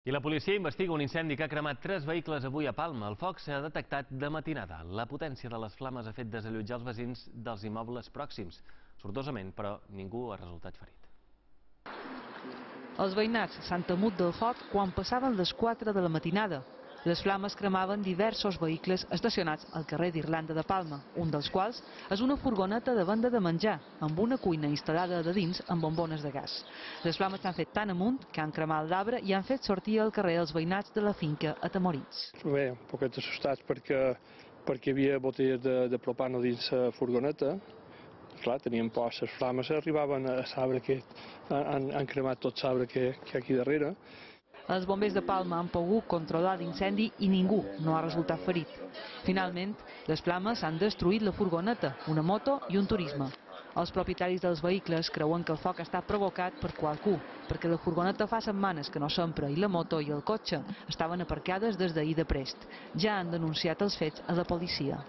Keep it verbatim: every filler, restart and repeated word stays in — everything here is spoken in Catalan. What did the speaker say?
I la policia investiga un incendi que ha cremat tres vehicles avui a Palma. El foc s'ha detectat de matinada. La potència de les flames ha fet desallotjar els veïns dels immobles pròxims. Sortosament, però, ningú ha resultat ferit. Els veïnats s'han temut del foc quan passaven les quatre de la matinada. Les flames cremaven diversos vehicles estacionats al carrer d'Irlanda de Palma, un dels quals és una furgoneta de venda de menjar, amb una cuina instal·lada de dins amb bombones de gas. Les flames s'han fet tan amunt que han cremat l'arbre i han fet sortir al carrer els veïnats de la finca a Tamorins. Bé, un poquet assustats perquè, perquè hi havia botelles de, de propano dins la furgoneta. Clar, teníem por, les flames arribaven a l'arbre que han, han cremat tot l'arbre que, que hi ha aquí darrere. Els bombers de Palma han pogut controlar l'incendi i ningú no ha resultat ferit. Finalment, les flames han destruït la furgoneta, una moto i un turisme. Els propietaris dels vehicles creuen que el foc està provocat per qualcú, perquè la furgoneta fa setmanes que no s'empra i la moto i el cotxe estaven aparcades des d'ahir de prest. Ja han denunciat els fets a la policia.